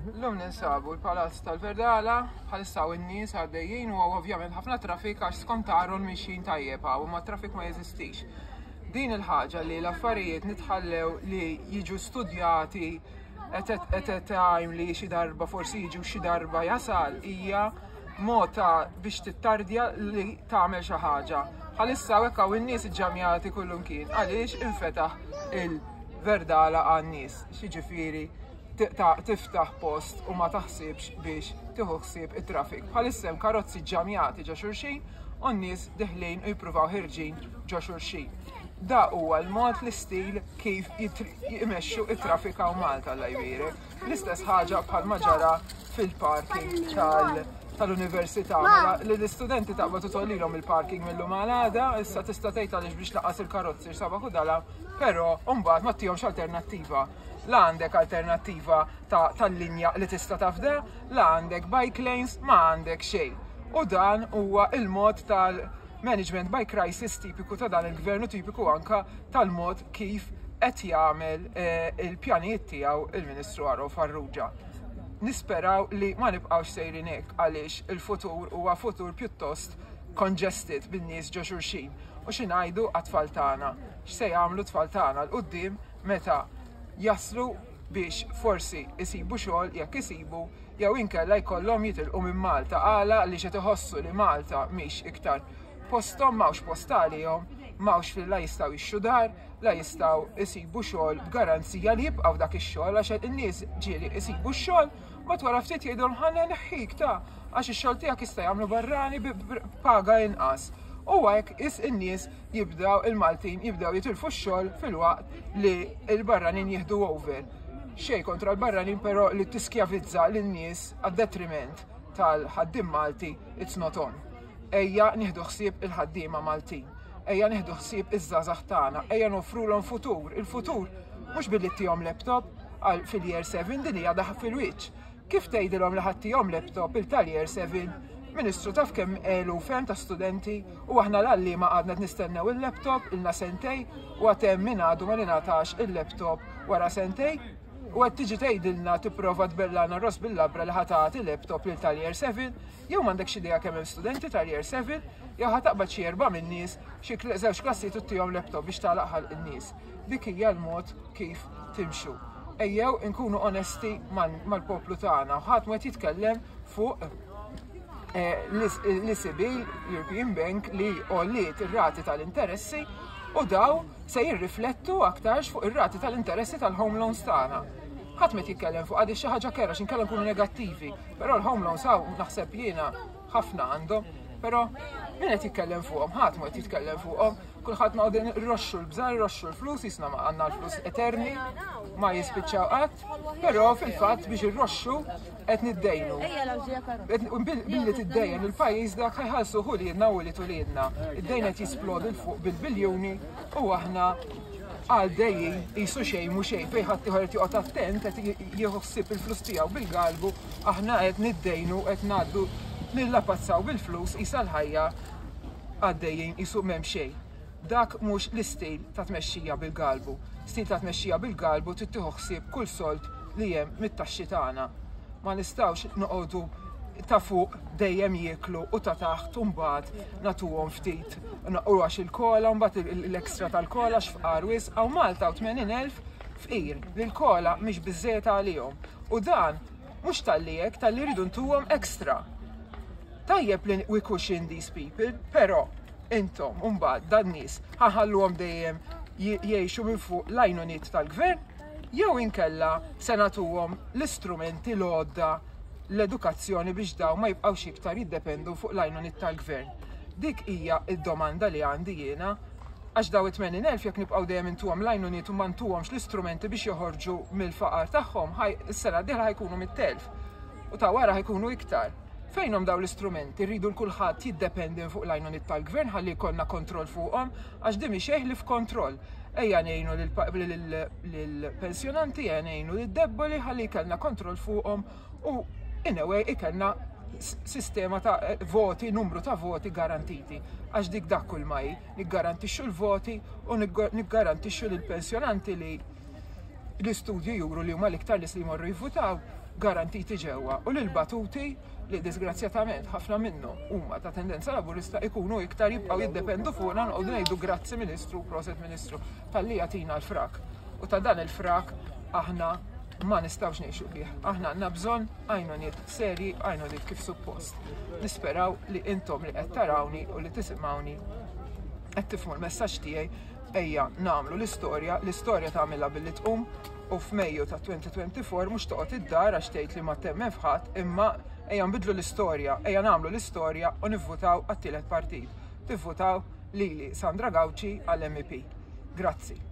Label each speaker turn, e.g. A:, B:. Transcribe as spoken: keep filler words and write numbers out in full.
A: Illum ninsabu l-Palazz tal-Verdala, bħalissa hawn in-nies għaddejjin u ovvjament ħafna traffic għax skont Aaron mixjin tajjeb hawn u ma traffic ma jeżistix. Din il-ħaġa li l-affarijiet nitħallew li jiġu studjati at a, at a time li xi darba forsi jiġu xi darba jasal hija mod ta' biex tittardja li tagħmel xi ħaġa. Bħalissa hekk hawn in-nies iġġamjati kullimkien għaliex infetaħ il-Verdala għan-nies. Xiġifieri tiftaħ post u ma taħsibx biex tieħu ħsieb it-traffic. Bħalissa hemm karozzi ġġamjati ġo xulxin u n-nies deħlin u jippruvaw ħerġin ġo xulxin. Da huwa l-mod, l-istil kif jimexxu it-traffic hawn Malta, Alla jbierek. L-istess ħaġa bħal ġara fil-parking tal tal-università. Mela li l-istudenti taqbad u tollilhom il-parking mill-lum għal għada, issa tista' tgħid għaliex biex laqas il-karozzi sabaħ u dala, però mbagħad ma ttihomx alternattiva. La għandek alternattiva tal-linja li tista' tafda, la għandek bike lanes, ma għandek xejn. U dan huwa il-mod tal-management by crisis tipiku ta' dan il-gvernu, tipiku anka tal-mod kif qed jagħmel eh, il-pjanijiet tiegħu il-Ministru Aaron Farrugia. Nisperaw li ma nibqgħux sejrin hekk għaliex il-futur huwa futur pjuttost congested bin-nies ġo xulxin. U xi ngħidu għat-tfal tagħna? X'se jagħmlu tfal tagħna 'l quddiem meta jaslu biex forsi isibu xogħol, jekk isibu, jew inkella jkollhom jitilqu minn Malta għala li qed iħossu li Malta mhix iktar posthom, m'hawnx post għalihom, m'hawnx fil la jistgħu jixtru dar, la jistgħu isibu xogħol b'garanzija li jibqgħu dak ix-xogħol, għax in-nies ġieli isibu x-xogħol, ma wara ftit jgħidulhom ħa nneħħik ta' għax ix-xogħol tiegħek jista' jagħmlu barrani b'paga inqas. U hekk is in-nies jibdew, il-Maltin jibdew jitilfu x-xogħol filwaqt li l-barranin jieħdu over. Xej kontra l-barranin, però li tiskjavizza lin-nies għad-detriment tal-ħaddiem Malti, it's not on. Ejja nieħdu ħsieb il-ħaddiema Maltin. Ejja nieħdu ħsieb iż-żgħażagħ tagħna, ejja nofrulhom futur. Il-futur mhux billi ttihom laptop għal fil-year seven, din hija daħk fil-wiċċ. Kif tgħidilhom li ħa ttihom laptop il tal-year seven? Ministru, taf kemm eluf hemm ta' studenti u aħna l-għalliema għadna nistennew il-laptop ilna sentejn u għad hemm min għadu ma ngħatax il-laptop wara sentejn u qed tiġi tgħidilna, tipprova tbellagħna ross bil-labra li ħa tagħti laptop lil tal-year seven, jew m'għandekx idea kemm hemm studenti tal-year seven, jew ħa taqbad xi erba' min-nies, xi żewġ klassijiet u ttihom laptop biex tagħlaq ħalq in-nies? Dik hija l-mod kif timxu. Ejjew inkunu onesti mal-poplu tagħna. Ħadd ma jitkellem fuq eh, l-E C B, European Bank, li għolliet ir-rati tal-interessi u daw se jirriflettu aktarx fuq ir-rati tal-interessi tal-home loans tagħna. Ħadd ma jitkellem fuq għadi xi ħaġa kerha x'inkella nkunu negattivi, però l-home loans hawn naħseb jiena ħafna għandhom, però min qed jitkellem fuqhom? Ħadd ma qed jitkellem fuqhom. Kulħadd noqogħdu nroxxu l-bżar, nroxxu l-flus, jisna ma għandna l-flus eterni, ma jispiċċaw qatt, però fil-fatt biex irroxxu qed niddejnu. Billi tiddejjen il-pajjiż dak ħa jħallsu uliedna u ulied uliedna. Id-dejn qed jisplodi 'l fuq bil-biljuni u aħna għaddejjin qisu xejn mhu xejn, fejn ħadd ieħor qed joqgħod attent, qed jieħu ħsieb il-flus tiegħu bil-galbu, aħna qed niddejnu, qed ngħaddu nillapazzaw bil-flus qisha l-ħajja għaddejjin qisu m'hemm xejn. Dak mhux l-istil ta' tmexxija bil-galbu. Stil ta' tmexxija bil-galbu trid tieħu ħsieb kull sold li hemm mit-taxxi tagħna. Ma nistgħux noqogħdu ta' fuq dejjem jieklu u ta' taħt mbagħad nagħtuhom ftit. U għax il-COLA, mbagħad l-extra tal-COLA x'fqar wisq, hawn Malta u tmenin elf fqir li l-COLA mhix biżżejjed għalihom. U dan mhux talli hekk, talli rridu ntuhom extra. Tajjeb li we cushion these people, però intom mbagħad dan nies ħa nħalluhom dejjem jgħixu minn fuq l-għajnuniet tal-gvern jew inkella se nagħtuhom l-istrumenti, l-għodda, l-edukazzjoni biex daw ma jibqgħux iktar jiddependu fuq l-għajnuniet tal-gvern? Dik hija id-domanda li għandi jiena, għax daw it-tmenin elf jekk nibqgħu dejjem intuhom l-għajnuniet u ma ntuhomx l-istrumenti biex joħorġu mill-faqar tagħhom, is-sena d-dieħla ħa jkunu mitt elf u ta' wara ħa jkunu iktar. Fejnhom daw l-istrumenti? Rridu l-kulħadd jiddependi fuq l-għajnuniet tal-gvern ħalli jkollna kontroll fuqhom, għax di mhi li f'kontroll. Ejja ngħinu lill-pensjonanti, ejja ngħinu lid-debboli ħalli jkollna kontroll fuqhom u in a way ikollna sistema ta' voti, numru ta' voti garantiti. Għax dik dak kull ma hi, niggarantixxu l-voti u niggarantixxu lill-pensjonanti li L-istudji juru li huma l-iktar nies li jmorru jivvutaw garantiti ġewwa u l-batuti li disgrazzjatament ħafna minnhom huma ta' tendenza Laburista ikunu iktar jibqgħu jiddependu fuqna, noqogħdu ngħidu "Grazzi Ministru, proset Ministru talli jagħtina l-frak". U ta' dan il-frak aħna ma nistgħux ngħixu bih. Aħna għandna bżonn għajnuniet seri, għajnuniet kif suppost. Nisperaw li intom li qed tarawni u li tisimgħuni qed tifhmu l-messaġġ tiegħi. Ejja nagħmlu l-istorja, l-istorja tagħmilha billi tqum u f'Mejju ta' elfejn u erbgħa u għoxrin mhux toqgħod id-dar għax tgħid li ma temmen f'ħadd, imma ejja nbidlu l-istorja, ejja nagħmlu l-istorja u nivvutaw għat-tielet partit. Tivvutaw lili, Sandra Gauci, għall-M E P. Grazzi.